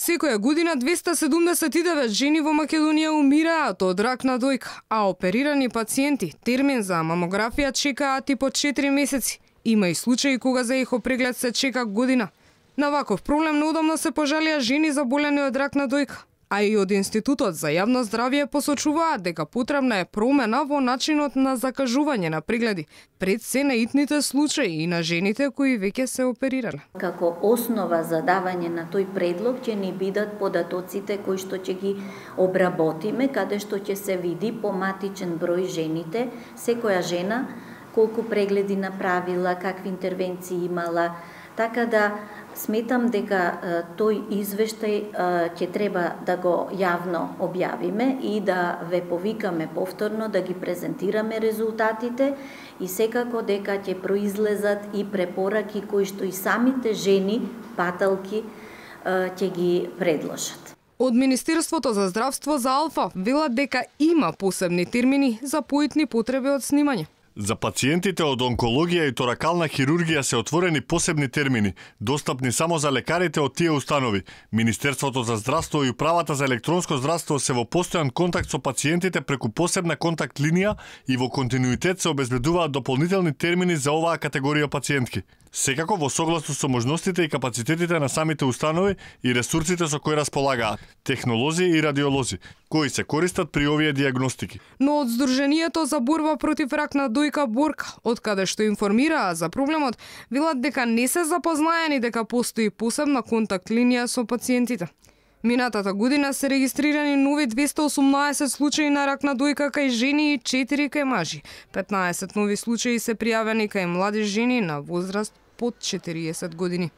Секоја година 279 жени во Македонија умираат од рак на дојка, а оперирани пациенти термин за мамографија чекаат и по 4 месеци. Има и случаи кога за ехопреглед се чека година. На ваков проблем неудобно се пожалија жени заболени од рак на дојка. А и од Институтот за јавно здравје посочуваат дека потребна е промена во начинот на закажување на прегледи, пред се на итните случаи и на жените кои веќе се оперирале. Како основа за давање на тој предлог ќе ни бидат податоците кои што ќе ги обработиме, каде што ќе се види по матичен број жените, секоја жена колку прегледи направила, какви интервенции имала, така да сметам дека тој извештај ќе треба да го јавно објавиме и да ве повикаме повторно да ги презентираме резултатите и секако дека ќе произлезат и препораки кои што и самите жени, паталки, ќе ги предложат. Од Министерството за здравство за Алфа велат дека има посебни термини за поитни потреби од снимање. За пациентите од онкологија и торакална хирургија се отворени посебни термини, достапни само за лекарите од тие установи. Министерството за здравство и управата за електронско здравство се во постојан контакт со пациентите преку посебна контакт линија и во континуитет се обезбедуваат дополнителни термини за оваа категорија пациентки. Секако во согласно со можностите и капацитетите на самите установи и ресурсите со кои располагаат, технолози и радиолози, кои се користат при овие диагностики. Но од Сдруженијето за борба против рак на дојка Борка, од каде што информираа за проблемот, велат дека не се запознаени дека постои посебна контакт линија со пациентите. Минатата година се регистрирани нови 218 случаи на рак на дојка кај жени и 4 кај мажи. 15 нови случаи се пријавени кај млади жени на возраст под 40 години.